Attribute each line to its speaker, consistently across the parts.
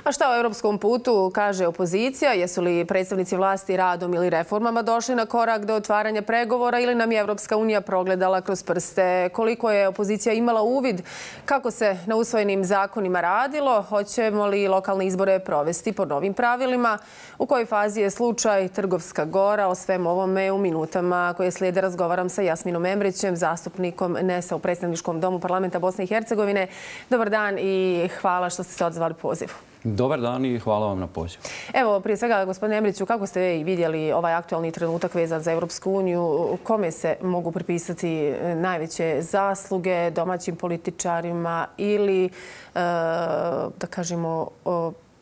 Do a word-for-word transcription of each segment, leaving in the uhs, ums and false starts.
Speaker 1: A šta o europskom putu kaže opozicija? Jesu li predstavnici vlasti radom ili reformama došli na korak do otvaranja pregovora ili nam je Evropska unija progledala kroz prste? Koliko je opozicija imala uvid kako se na usvojenim zakonima radilo? Hoćemo li lokalne izbore provesti po novim pravilima? U kojoj fazi je slučaj Trgovska Gora? O svem ovome u minutama koje slijede razgovaram sa Jasminom Embrićem, zastupnikom N E S-a u predstavničkom domu parlamenta Bosne i Hercegovine. Dobar dan i hvala što ste se odzvali pozivu.
Speaker 2: Dobar dan i hvala vam na pozivu.
Speaker 1: Evo, prije svega, gospodine Embriću, kako ste vidjeli ovaj aktualni trenutak vezan za Evropsku uniju? Kome se mogu pripisati najveće zasluge, domaćim političarima ili, da kažemo,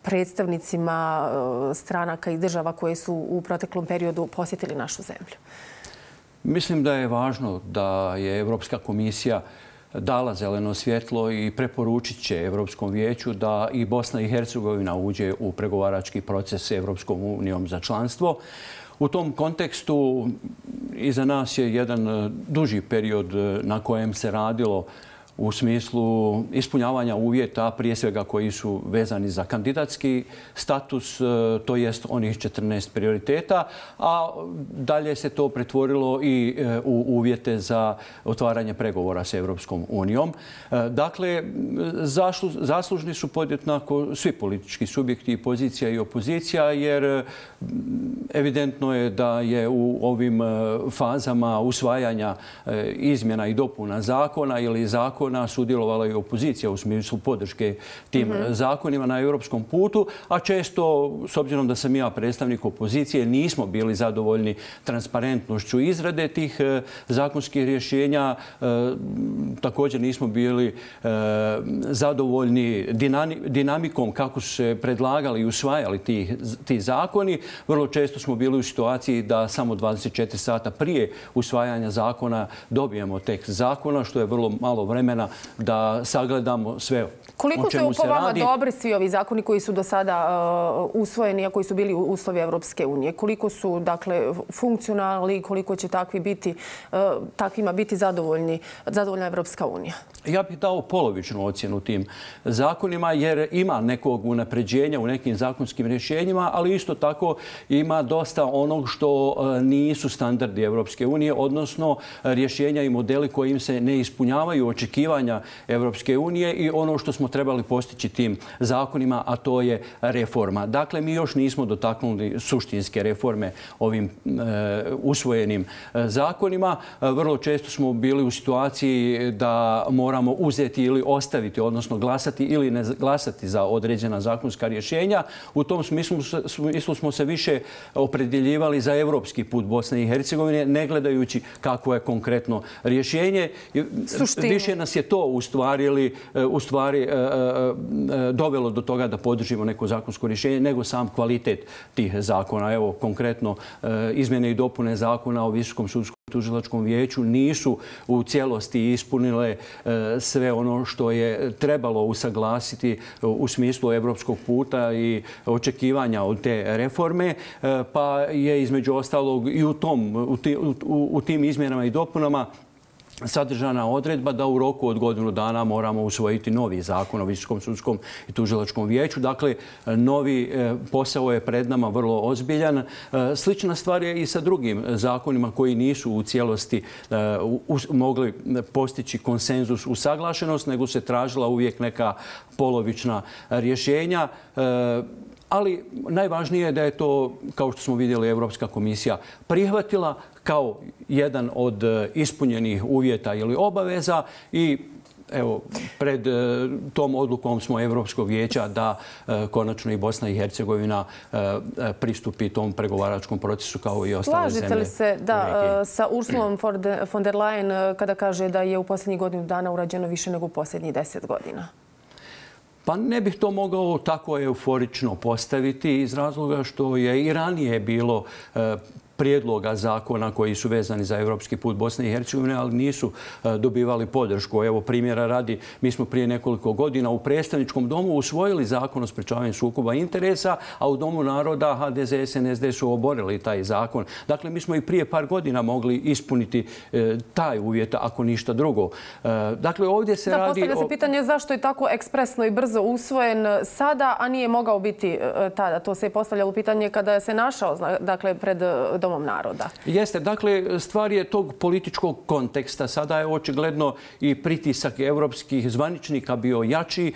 Speaker 1: predstavnicima stranaka i država koje su u proteklom periodu posjetili našu zemlju?
Speaker 2: Mislim da je važno da je Evropska komisija dala zeleno svjetlo i preporučit će Evropskom vijeću da i Bosna i Hercegovina uđe u pregovarački proces s Evropskom unijom za članstvo. U tom kontekstu iza nas je jedan duži period na kojem se radilo u smislu ispunjavanja uvjeta, prije svega koji su vezani za kandidatski status, to jest onih četrnaest prioriteta, a dalje se to pretvorilo i u uvjete za otvaranje pregovora s Evropskom unijom. Dakle, zaslužni su podjednako svi politički subjekti, pozicija i opozicija, jer evidentno je da je u ovim fazama usvajanja izmjena i dopuna zakona ili zakona sudjelovala i opozicija u smislu podrške tim zakonima na europskom putu, a često, s obzirom da sam ja predstavnik opozicije, nismo bili zadovoljni transparentnošću izrade tih zakonskih rješenja. Također nismo bili zadovoljni dinamikom kako su se predlagali i usvajali ti zakoni. Vrlo često smo bili u situaciji da samo dvadeset četiri sata prije usvajanja zakona dobijemo tekst zakona, što je vrlo malo vremena da sagledamo sve o čemu se radi.
Speaker 1: Koliko su po vama dobri svi ovi zakoni koji su do sada usvojeni, a koji su bili uslovi Evropske unije? Koliko su, dakle, funkcionalni, koliko će takvi biti, takvima biti zadovoljni, zadovoljna Evropska unija?
Speaker 2: Ja bih dao polovičnu ocjenu tim zakonima, jer ima nekog unapređenja u nekim zakonskim rješenjima, ali isto tako ima dosta onog što nisu standardi Evropske unije, odnosno rješenja i modeli kojim se ne ispunjavaju očekivanja Evropske unije i ono što smo trebali postići tim zakonima, a to je reforma. Dakle, mi još nismo dotaknuli suštinske reforme ovim usvojenim zakonima. Vrlo često smo bili u situaciji da moramo uzeti ili ostaviti, odnosno glasati ili ne glasati za određena zakonska rješenja. U tom smislu smo se više opredjeljivali za evropski put Bosne i Hercegovine, ne gledajući kako je konkretno rješenje. Više nas je to u stvari, u stvari dovelo do toga da podržimo neko zakonsko rješenje nego sam kvalitet tih zakona. Evo, konkretno, izmjene i dopune zakona o Visokom sudskom tužilačkom vijeću nisu u cijelosti ispunile sve ono što je trebalo usaglasiti u smislu evropskog puta i očekivanja od te reforme, pa je između ostalog i u, tom, u, ti, u, u tim izmjenama i dopunama sadržana odredba da u roku od godinu dana moramo usvojiti novi zakon o Visokom sudskom i tužilačkom vijeću. Dakle, novi posao je pred nama vrlo ozbiljan. Slična stvar je i sa drugim zakonima koji nisu u cijelosti mogli postići konsenzus, usaglašenost, nego se tražila uvijek neka polovična rješenja. Ali najvažnije je da je to, kao što smo vidjeli, Evropska komisija prihvatila kao jedan od ispunjenih uvjeta ili obaveza i evo, pred tom odlukom smo Evropskog vijeća da konačno i Bosna i Hercegovina pristupi tom pregovaračkom procesu kao i ostale zemlje.
Speaker 1: Slažete li se da sa Ursulom von der Leyen kada kaže da je u posljednjih godinu dana urađeno više nego u posljednjih deset godina?
Speaker 2: Pa ne bih to mogao tako euforično postaviti iz razloga što je i ranije bilo prijedloga zakona koji su vezani za evropski put Bosne i Hercegovine, ali nisu dobivali podršku. Evo primjera radi, mi smo prije nekoliko godina u predstavničkom domu usvojili zakon o sprečavanju sukoba interesa, a u Domu naroda ha de ze, es en es de su oborili taj zakon. Dakle, mi smo i prije par godina mogli ispuniti taj uvjet, ako ništa drugo. Dakle, ovdje se radi...
Speaker 1: Da, postavlja se pitanje zašto je tako ekspresno i brzo usvojen sada, a nije mogao biti tada. To se je postavljalo pitanje kada se našao, dakle, pred Domom naroda.
Speaker 2: Jeste. Dakle, stvar je tog političkog konteksta. Sada je očigledno i pritisak evropskih zvaničnika bio jači.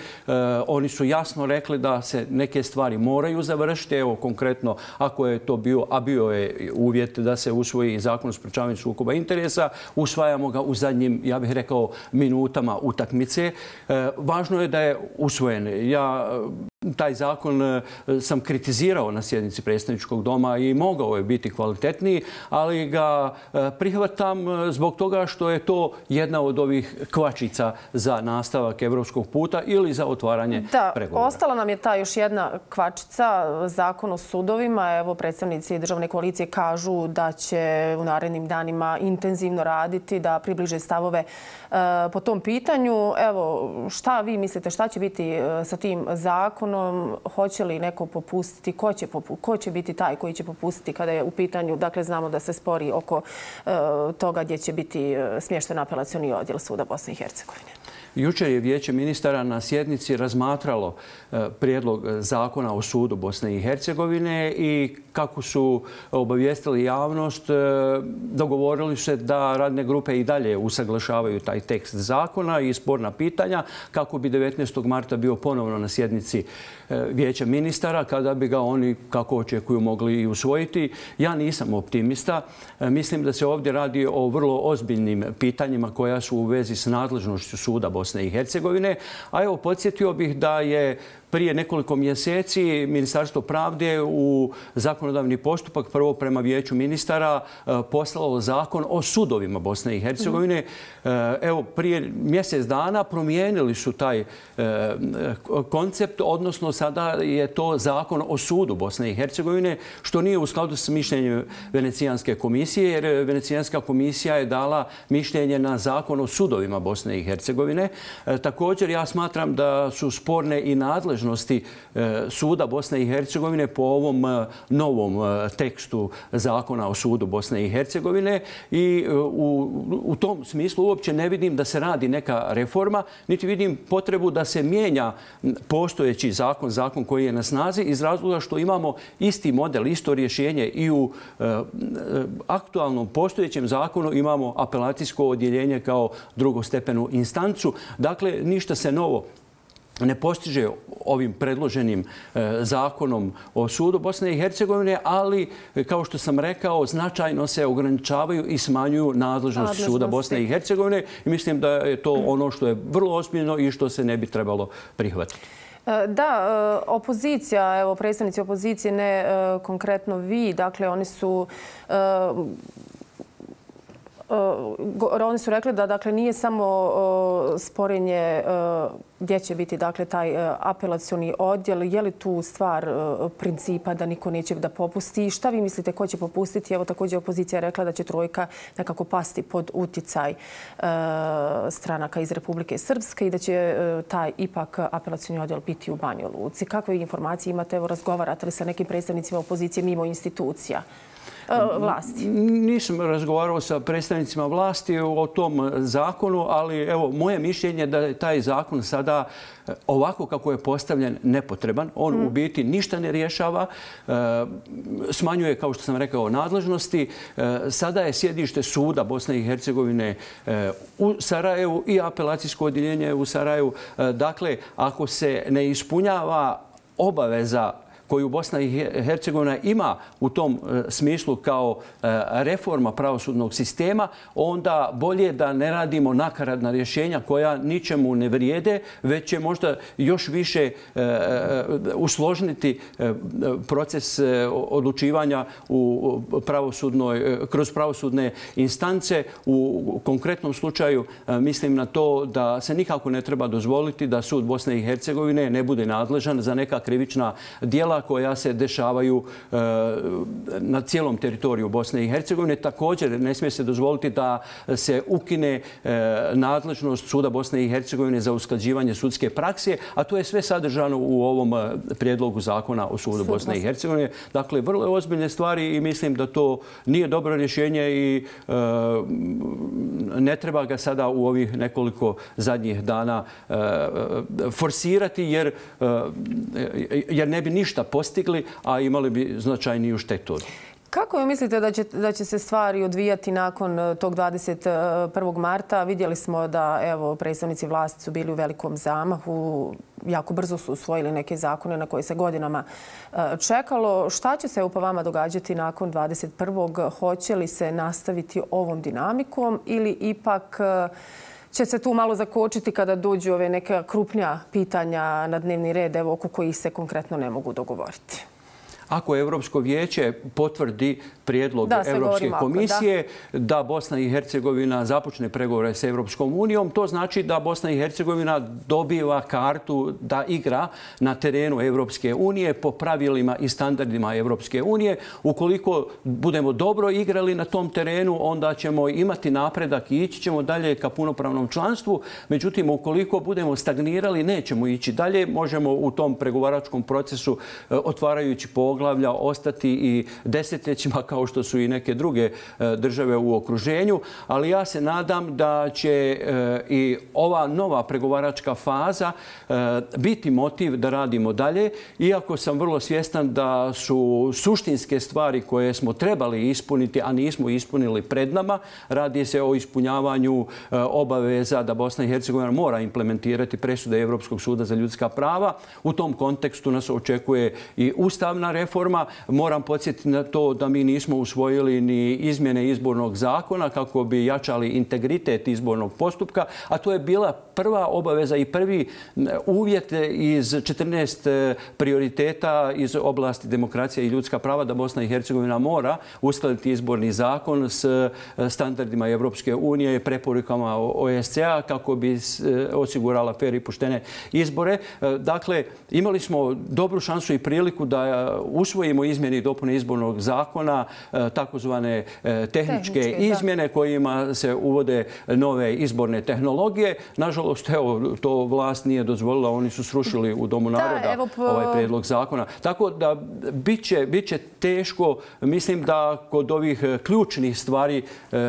Speaker 2: Oni su jasno rekli da se neke stvari moraju završiti. Evo, konkretno, ako je to bio, a bio je uvjet da se usvoji zakon o sprečavanju sukoba interesa, usvajamo ga u zadnjim, ja bih rekao, minutama utakmice. Važno je da je usvojen. Ja taj zakon sam kritizirao na sjednici predstavničkog doma i mogao je biti kvalitetniji, ali ga prihvatam zbog toga što je to jedna od ovih kvačica za nastavak evropskog puta ili za otvaranje pregovora.
Speaker 1: Da, ostala nam je ta još jedna kvačica, zakon o sudovima. Evo, predstavnici državne koalicije kažu da će u narednim danima intenzivno raditi, da približe stavove po tom pitanju. Evo, šta vi mislite, šta će biti sa tim zakonom? Hoće li neko popustiti? Ko će, popu, ko će biti taj koji će popustiti kada je u pitanju? Dakle, znamo da se spori oko uh, toga gdje će biti smješten apelacioni odjel Suda Bosne i Hercegovine.
Speaker 2: Jučer je Vijeće ministara na sjednici razmatralo prijedlog zakona o sudu Bosne i Hercegovine i kako su obavijestili javnost, dogovorili se da radne grupe i dalje usaglašavaju taj tekst zakona i sporna pitanja kako bi devetnaestog marta bio ponovno na sjednici Vijeća ministara kada bi ga oni, kako očekuju, mogli i usvojiti. Ja nisam optimista. Mislim da se ovdje radi o vrlo ozbiljnim pitanjima koja su u vezi s nadležnošću suda Bosne i Hercegovine. A evo, podsjetio bih da je prije nekoliko mjeseci Ministarstvo pravde u zakonodavni postupak prvo prema Vijeću ministara poslalo zakon o sudovima Bosne i Hercegovine. Evo, prije mjesec dana promijenili su taj koncept, odnosno sada je to zakon o sudu Bosne i Hercegovine, što nije u skladu s mišljenjem Venecijanske komisije, jer Venecijanska komisija je dala mišljenje na zakon o sudovima Bosne i Hercegovine. Također, ja smatram da su sporne i nadležnosti suda Bosne i Hercegovine po ovom novom tekstu zakona o sudu Bosne i Hercegovine i u, u tom smislu uopće ne vidim da se radi neka reforma, niti vidim potrebu da se mijenja postojeći zakon, zakon koji je na snazi iz razloga što imamo isti model, isto rješenje i u e, aktualnom postojećem zakonu imamo apelacijsko odjeljenje kao drugostepenu instancu. Dakle, ništa se novo ne postiže ovim predloženim zakonom o sudu Bosne i Hercegovine, ali, kao što sam rekao, značajno se ograničavaju i smanjuju nadležnosti suda Bosne i Hercegovine. I mislim da je to ono što je vrlo ozbiljno i što se ne bi trebalo prihvatiti.
Speaker 1: Da, opozicija, evo, predstavnici opozicije, ne konkretno vi, dakle, oni su... Oni su rekli da, dakle, nije samo sporenje gdje će biti, dakle, taj apelacioni odjel. Je li tu stvar principa da niko neće da popusti? Šta vi mislite ko će popustiti? Evo, također opozicija je rekla da će trojka nekako pasti pod uticaj stranaka iz Republike Srpske i da će taj ipak apelacioni odjel biti u Banja Luci. Kakve informacije imate? Evo, razgovarate li sa nekim predstavnicima opozicije mimo institucija vlasti?
Speaker 2: Nisam razgovarao sa predstavnicima vlasti o tom zakonu, ali evo, moje mišljenje je da je taj zakon sada ovako kako je postavljen nepotreban. On mm. u biti ništa ne rješava, smanjuje, kao što sam rekao, nadležnosti. Sada je sjedište suda Bosne i Hercegovine u Sarajevu i apelacijsko odjeljenje u Sarajevu. Dakle, ako se ne ispunjava obaveza koju Bosna i Hercegovina ima u tom smislu kao reforma pravosudnog sistema, onda bolje da ne radimo nakaradna rješenja koja ničemu ne vrijede, već će možda još više usložniti proces odlučivanja u pravosudnoj, kroz pravosudne instance. U konkretnom slučaju mislim na to da se nikako ne treba dozvoliti da sud Bosne i Hercegovine ne bude nadležan za neka krivična djela djela koja se dešavaju na cijelom teritoriju Bosne i Hercegovine. Također ne smije se dozvoliti da se ukine nadležnost Suda Bosne i Hercegovine za usklađivanje sudske prakse, a to je sve sadržano u ovom prijedlogu zakona o Sudu Bosne i Hercegovine. Dakle, vrlo ozbiljne stvari i mislim da to nije dobro rješenje i ne treba ga sada u ovih nekoliko zadnjih dana forsirati jer, jer ne bi ništa postigli, a imali bi značajniju štetu.
Speaker 1: Kako vi mislite da će, da će se stvari odvijati nakon tog dvadeset prvog marta? Vidjeli smo da evo, predstavnici vlasti su bili u velikom zamahu. Jako brzo su usvojili neke zakone na koje se godinama čekalo. Šta će se po vama događati nakon dvadeset prvog? Hoće li se nastaviti ovom dinamikom ili ipak će se tu malo zakočiti kada dođu ove neka krupnija pitanja na dnevni red, evo, oko kojih se konkretno ne mogu dogovoriti?
Speaker 2: Ako Europsko vijeće potvrdi prijedlog Europske komisije da Bosna i Hercegovina započne pregovore s Europskom unijom, to znači da Bosna i Hercegovina dobiva kartu da igra na terenu Europske unije po pravilima i standardima Europske unije. Ukoliko budemo dobro igrali na tom terenu, onda ćemo imati napredak i ići ćemo dalje ka punopravnom članstvu. Međutim, ukoliko budemo stagnirali, nećemo ići dalje. Možemo u tom pregovaračkom procesu otvarajući poglavlja ostati i desetljećima kao što su i neke druge države u okruženju. Ali ja se nadam da će i ova nova pregovaračka faza biti motiv da radimo dalje. Iako sam vrlo svjestan da su suštinske stvari koje smo trebali ispuniti, a nismo ispunili pred nama. Radi se o ispunjavanju obaveza da Bosna i Hercegovina mora implementirati presude Europskog suda za ljudska prava. U tom kontekstu nas očekuje i ustavna reforma. Moram podsjetiti na to da mi nismo usvojili ni izmjene izbornog zakona kako bi jačali integritet izbornog postupka, a to je bila prva obaveza i prvi uvjet iz četrnaest prioriteta iz oblasti demokracije i ljudska prava da Bosna i Hercegovina mora uskladiti izborni zakon s standardima Europske unije i preporukama O S C A kako bi osigurala fer i poštene izbore. Dakle, imali smo dobru šansu i priliku da usvojimo izmjene i dopune izbornog zakona, takozvane tehničke izmjene kojima se uvode nove izborne tehnologije. Nažalost, evo, to vlast nije dozvolila. Oni su srušili u Domu naroda ovaj prijedlog zakona. Tako da biće, biće teško. Mislim da kod ovih ključnih stvari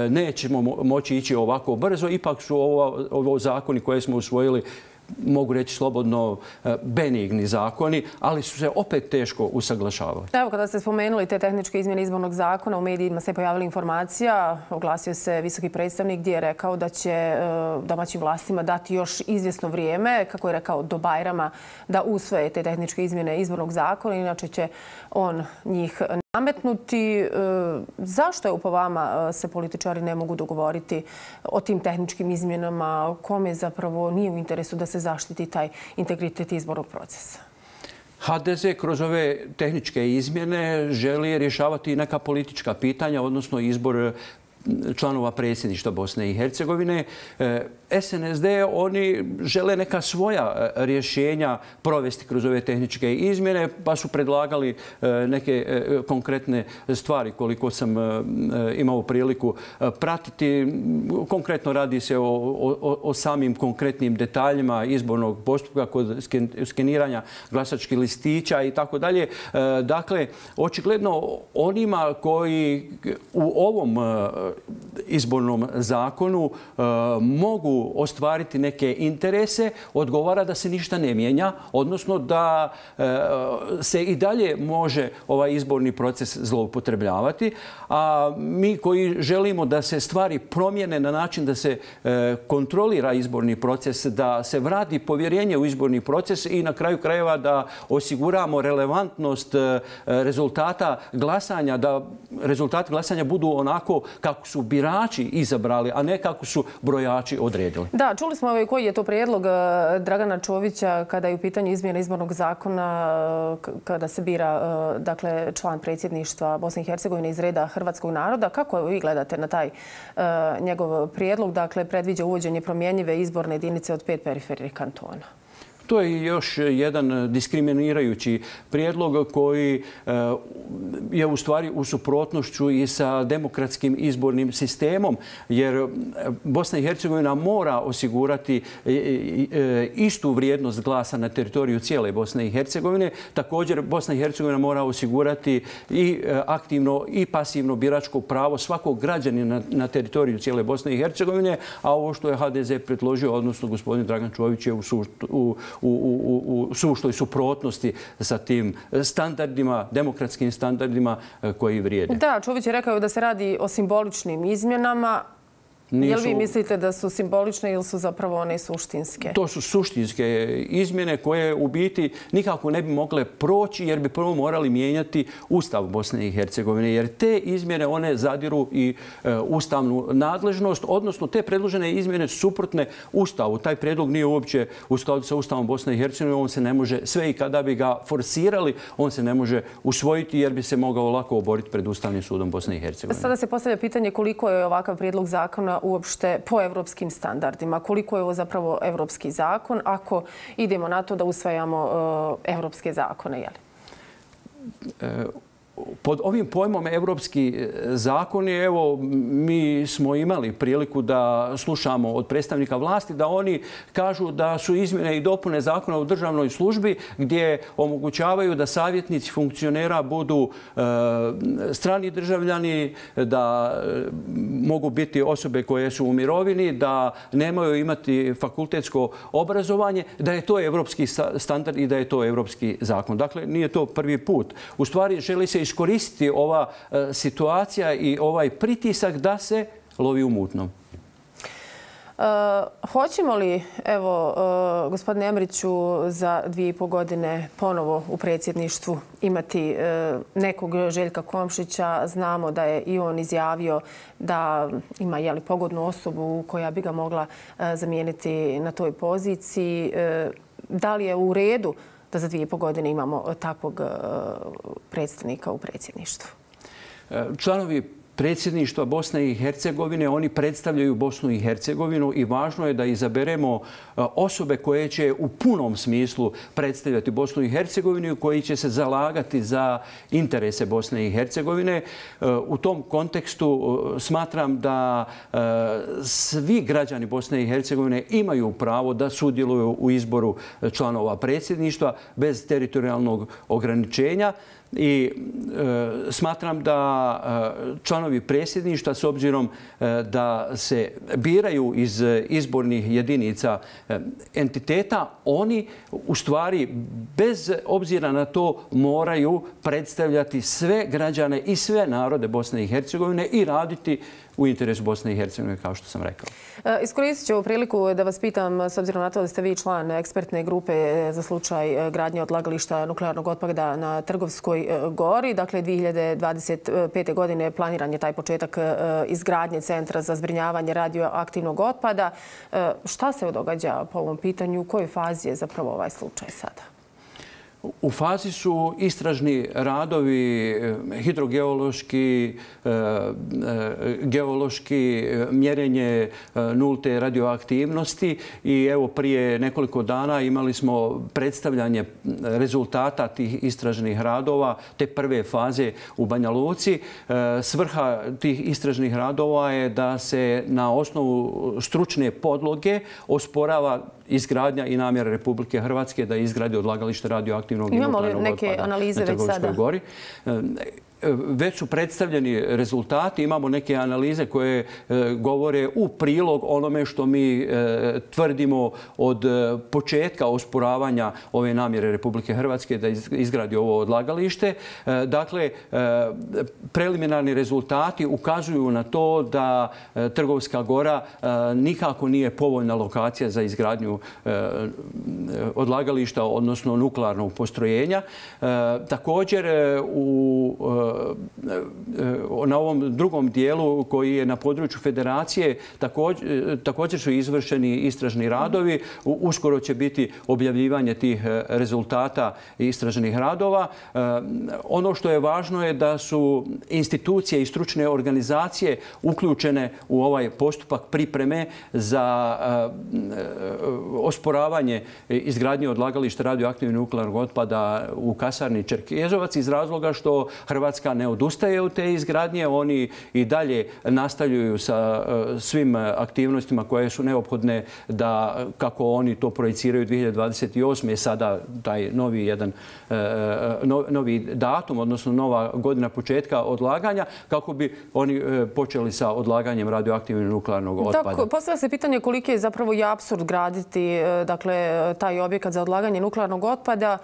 Speaker 2: nećemo moći ići ovako brzo. Ipak su ovo, ovo zakoni koje smo usvojili, mogu reći slobodno, benigni zakoni, ali su se opet teško usaglašavali.
Speaker 1: Evo, kada ste spomenuli te tehničke izmjene izbornog zakona, u medijima se pojavila informacija, oglasio se visoki predstavnik gdje je rekao da će domaćim vlastima dati još izvjesno vrijeme, kako je rekao, do Bajrama da usvoje te tehničke izmjene izbornog zakona, inače će on njih nametnuti. Zašto je po vama se političari ne mogu dogovoriti o tim tehničkim izmjenama? Kome zapravo nije u interesu da se zaštiti taj integritet izbornog procesa?
Speaker 2: H D Z kroz ove tehničke izmjene želi rješavati neka politička pitanja, odnosno izbor članova predsjedništva Bosne i Hercegovine. S N S D, oni žele neka svoja rješenja provesti kroz ove tehničke izmjene, pa su predlagali neke konkretne stvari koliko sam imao priliku pratiti. Konkretno radi se o, o, o samim konkretnim detaljima izbornog postupka kod skeniranja glasačkih listića i tako dalje. Dakle, očigledno onima koji u ovom izbornom zakonu mogu ostvariti neke interese, odgovara da se ništa ne mijenja, odnosno da se i dalje može ovaj izborni proces zloupotrebljavati. A mi koji želimo da se stvari promijene na način da se kontrolira izborni proces, da se vrati povjerenje u izborni proces i na kraju krajeva da osiguramo relevantnost rezultata glasanja, da rezultati glasanja budu onako kako su birači izabrali, a ne kako su brojači odredili.
Speaker 1: Da, čuli smo koji je to prijedlog Dragana Čovića kada je u pitanju izmjena izbornog zakona, kada se bira dakle, član predsjedništva Bosne i Hercegovine iz reda hrvatskog naroda. Kako vi gledate na taj njegov prijedlog? Dakle, predviđa uvođenje promjenjive izborne jedinice od pet perifernih kantona.
Speaker 2: To je još jedan diskriminirajući prijedlog koji je u stvari u suprotnošću i sa demokratskim izbornim sistemom, jer Bosna i Hercegovina mora osigurati istu vrijednost glasa na teritoriju cijele Bosne i Hercegovine. Također, Bosna i Hercegovina mora osigurati i aktivno i pasivno biračko pravo svakog građanina na teritoriju cijele Bosne i Hercegovine, a ovo što je H D Z predložio, odnosno gospodin Dragan Čović, je u, u, u, u, u suštoj suprotnosti sa tim standardima, demokratskim standardima koji vrijede.
Speaker 1: Da, Čović je rekao da se radi o simboličnim izmjenama. Nisu... Jel vi mislite da su simbolične ili su zapravo one suštinske?
Speaker 2: To su suštinske izmjene koje u biti nikako ne bi mogle proći jer bi prvo morali mijenjati Ustav Bosne i Hercegovine. Jer te izmjene one zadiru i e, ustavnu nadležnost, odnosno te predložene izmjene suprotne Ustavu. Taj prijedlog nije uopće u skladu sa Ustavom Bosne i Hercegovine. On se ne može, sve i kada bi ga forsirali, on se ne može usvojiti jer bi se mogao lako oboriti pred Ustavnim sudom Bosne i Hercegovine.
Speaker 1: Sada se postavlja pitanje koliko je ovakav prijedlog zakona uopšte po evropskim standardima. Koliko je ovo zapravo evropski zakon ako idemo na to da usvajamo evropske zakone? Jel?
Speaker 2: Pod ovim pojmom evropski zakoni, evo, mi smo imali priliku da slušamo od predstavnika vlasti da oni kažu da su izmjene i dopune zakona u državnoj službi gdje omogućavaju da savjetnici funkcionera budu e, strani državljani, da mogu biti osobe koje su u mirovini, da nemaju imati fakultetsko obrazovanje, da je to evropski standard i da je to evropski zakon. Dakle, nije to prvi put. U stvari, želi se iskoristiti ova e, situacija i ovaj pritisak da se lovi u mutnom.
Speaker 1: E, hoćemo li, evo, e, gospodine Emriću, za dvije i po godine ponovo u predsjedništvu imati e, nekog Željka Komšića? Znamo da je i on izjavio da ima jeli, pogodnu osobu koja bi ga mogla e, zamijeniti na toj poziciji. E, da li je u redu da za dvije i po godine imamo takvog predstavnika u predsjedništvu?
Speaker 2: Članovi predsjedništva Bosne i Hercegovine, oni predstavljaju Bosnu i Hercegovinu i važno je da izaberemo osobe koje će u punom smislu predstavljati Bosnu i Hercegovinu i koji će se zalagati za interese Bosne i Hercegovine. U tom kontekstu smatram da svi građani Bosne i Hercegovine imaju pravo da sudjeluju u izboru članova predsjedništva bez teritorijalnog ograničenja. I e, smatram da e, članovi predsjedništva, s obzirom e, da se biraju iz izbornih jedinica e, entiteta, oni u stvari bez obzira na to moraju predstavljati sve građane i sve narode Bosne i Hercegovine i raditi u interesu Bosne i Hercegovine, kao što sam rekao.
Speaker 1: Iskoristit ću ovu priliku da vas pitam, s obzirom na to da ste vi član ekspertne grupe za slučaj gradnje odlagališta nuklearnog otpada na Trgovskoj gori. Dakle, dvije hiljade dvadeset pete. godine planiran je taj početak izgradnje centra za zbrinjavanje radioaktivnog otpada. Šta se događa po ovom pitanju? U kojoj fazi je zapravo ovaj slučaj sada?
Speaker 2: U fazi su istražni radovi, hidrogeološki, geološki, mjerenje nulte radioaktivnosti i evo prije nekoliko dana imali smo predstavljanje rezultata tih istražnih radova, te prve faze u Banja Luci. Svrha tih istražnih radova je da se na osnovu stručne podloge osporava izgradnja i namjera Republike Hrvatske da izgradi odlagalište radioaktivnog i nuklearnog otpada na Trgovskoj gori. Već su predstavljeni rezultati. Imamo neke analize koje govore u prilog onome što mi tvrdimo od početka osporavanja ove namjere Republike Hrvatske da izgradi ovo odlagalište. Dakle, preliminarni rezultati ukazuju na to da Trgovska gora nikako nije povoljna lokacija za izgradnju odlagališta, odnosno nuklearnog postrojenja. Također, u na ovom drugom dijelu koji je na području federacije također su izvršeni istražni radovi. Uskoro će biti objavljivanje tih rezultata istražnih radova. Ono što je važno je da su institucije i stručne organizacije uključene u ovaj postupak pripreme za osporavanje izgradnje odlagališta radioaktivnog nuklearnog otpada u kasarni Čerkezovac iz razloga što Hrvatska ne odustaje od te izgradnje. Oni i dalje nastavljaju sa svim aktivnostima koje su neophodne da, kako oni to projiciraju, dvije hiljade dvadeset osme je sada taj novi jedan novi datum, odnosno nova godina početka odlaganja, kako bi oni počeli sa odlaganjem radioaktivnog nuklearnog otpada.
Speaker 1: Tako, postavlja se pitanje koliki je zapravo i apsurd graditi dakle, taj objekat za odlaganje nuklearnog otpada,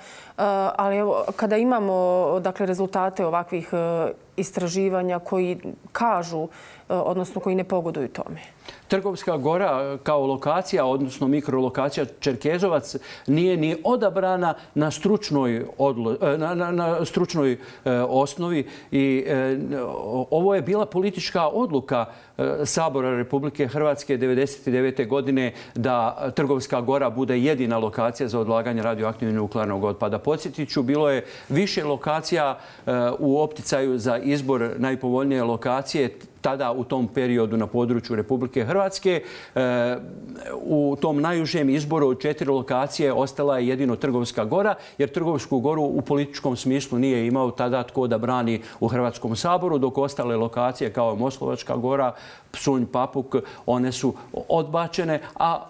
Speaker 1: ali evo, kada imamo dakle, rezultate ovakvih istraživanja koji kažu, odnosno koji ne pogoduju tome.
Speaker 2: Trgovska gora kao lokacija, odnosno mikrolokacija Čerkezovac, nije ni odabrana na stručnoj, odlo, na, na, na stručnoj e, osnovi i e, ovo je bila politička odluka e, Sabora Republike Hrvatske devedeset devete godine da Trgovska gora bude jedina lokacija za odlaganje radioaktivnog nuklearnog otpada. Podsjetit ću, bilo je više lokacija e, u opticaju za izbor najpovoljnije lokacije tada u tom periodu na području Republike Hrvatske. U tom najužem izboru od četiri lokacije ostala je jedino Trgovska gora, jer Trgovsku goru u političkom smislu nije imao tada tko da brani u Hrvatskom saboru, dok ostale lokacije kao Moslavačka gora, Psunj, Papuk, one su odbačene, a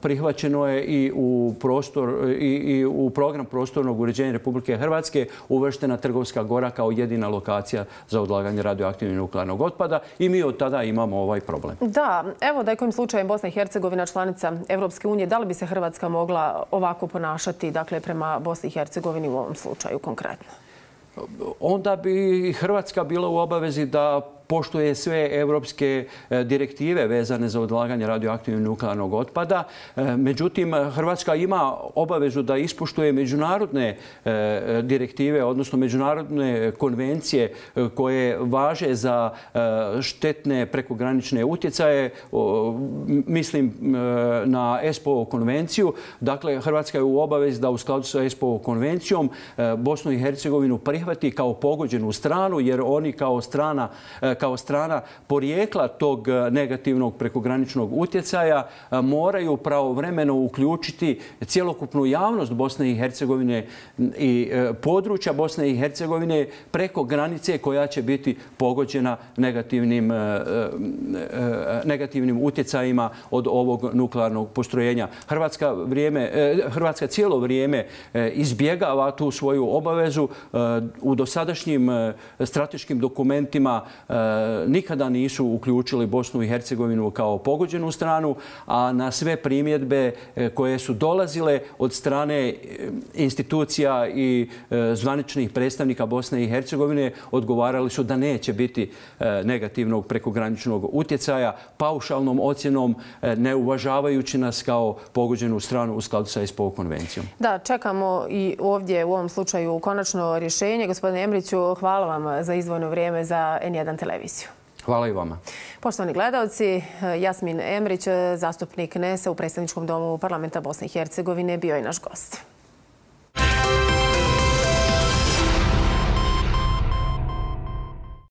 Speaker 2: prihvaćeno je i u, prostor, i, i u program prostornog uređenja Republike Hrvatske uvrštena Trgovska gora kao jedina lokacija za odlaganje radioaktivnog nuklearnog otpada. I mi od tada imamo ovaj problem.
Speaker 1: Da, evo da je kojim slučajem Bosna i Hercegovina članica Evropske unije, da li bi se Hrvatska mogla ovako ponašati, dakle, prema Bosni i Hercegovini u ovom slučaju konkretno?
Speaker 2: Onda bi Hrvatska bila u obavezi da poštuje sve evropske direktive vezane za odlaganje radioaktivnog nuklearnog otpada. Međutim, Hrvatska ima obavezu da ispoštuje međunarodne direktive, odnosno međunarodne konvencije koje važe za štetne prekogranične utjecaje. Mislim na E S P O konvenciju. Dakle, Hrvatska je u obavezi da u skladu sa E S P O konvencijom Bosnu i Hercegovinu prihvati kao pogođenu stranu, jer oni kao strana kao strana porijekla tog negativnog prekograničnog utjecaja moraju pravovremeno uključiti cjelokupnu javnost Bosne i Hercegovine i područja Bosne i Hercegovine preko granice koja će biti pogođena negativnim, negativnim utjecajima od ovog nuklearnog postrojenja. Hrvatska, vrijeme, Hrvatska cijelo vrijeme izbjegava tu svoju obavezu. U dosadašnjim strateškim dokumentima nikada nisu uključili Bosnu i Hercegovinu kao pogođenu stranu, a na sve primjedbe koje su dolazile od strane institucija i zvaničnih predstavnika Bosne i Hercegovine odgovarali su da neće biti negativnog prekograničnog utjecaja, paušalnom ocjenom, ne uvažavajući nas kao pogođenu stranu u skladu sa E S P O konvencijom.
Speaker 1: Da, čekamo i ovdje u ovom slučaju konačno rješenje. Gospodine Emriću, hvala vam za izdvojeno vrijeme za N jedan televiziju.
Speaker 2: Hvala i vama.
Speaker 1: Poštovani gledalci, Jasmin Emrić, zastupnik N E S-a u Predstavničkom domu Parlamenta Bosne i Hercegovine, bio je naš gost.